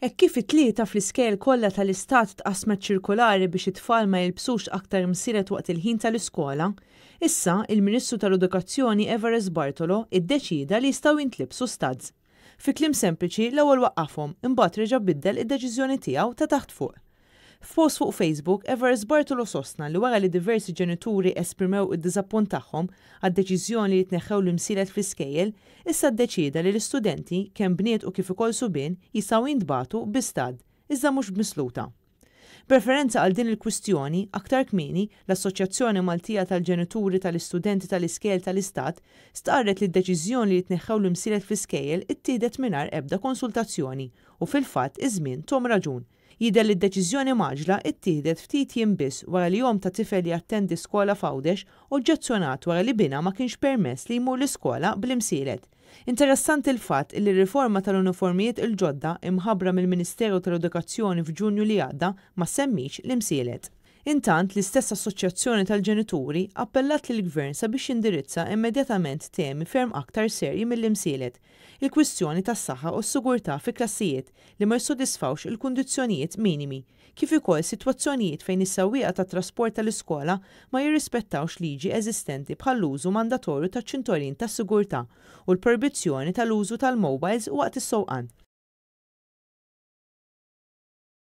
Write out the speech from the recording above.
Hekk kif it-Tlieta fl-iskejjel kollha tal-Istat tqassmet ċirkulari biex it-tfal ma jilbsux aktar msielet waqt il-ħin tal-iskola, issa il-Ministru tal-Edukazzjoni Evarist Bartolo iddeċieda li jistgħu jintlibsu studs. Fi kliem sempliċi, l-ewwel waqqafhom, imbagħad reġa' biddel id-deċiżjoni tiegħu ta' taħt fuq. F'post fuq Facebook, Evarist Bartolo sostna li wara li diversi ġenituri esprimew id-diżappunt tagħhom għad-deċiżjoni li jitneħħew l-imsielet fl-iskejjel, issa ddeċieda li l-istudenti, kemm bniet u kif ukoll subien, jistgħu jintbagħtu bi stud, iżda mhux b'misluta. B'referenza għal din il-kwistjoni, aktar kmieni, l-Assoċjazzjoni Maltija tal-Ġenituri tal-Istudenti tal-Iskejjel tal-Istat stqarret li d-deċiżjoni li jitneħħew l-imsielet fl-iskejjel ittieħdet mingħajr ebda konsultazzjoni u fil-fatt iż-żmien tahom raġun. Jidher li d-deċiżjoni mgħaġġla ttieħdet ftit jiem biss wara li omm ta' tifel li jattendi skola f'Għawdex oġġezzjonat wara li binha ma kienx permess li jmur l-iskola bl-imsielet. Interessanti l-fatt li r-riforma tal-uniformijiet il-ġodda imħabbra mill-Ministeru tal-Edukazzjoni f'Ġunju li għadda ma semmix l-imsielet. Intant, l-istess assoċjazzjoni tal-ġenituri appellat lill-Gvern sabiex jindirizza immedjatament temi ferm aktar serji mill-imsielet, il-kwistjoni tas-saħħa u s-sigurtà fi klassijiet li ma jissodisfawx il-kundizzjonijiet minimi, kif ukoll sitwazzjonijiet fejn is-sewwieqa tat-trasport tal-iskola ma jirrispettawx liġi eżistenti bħall-użu mandatorju taċ-ċintorin tas-sigurtà u l-projbizzjoni tal-użu tal-mobiles waqt is-sewqan.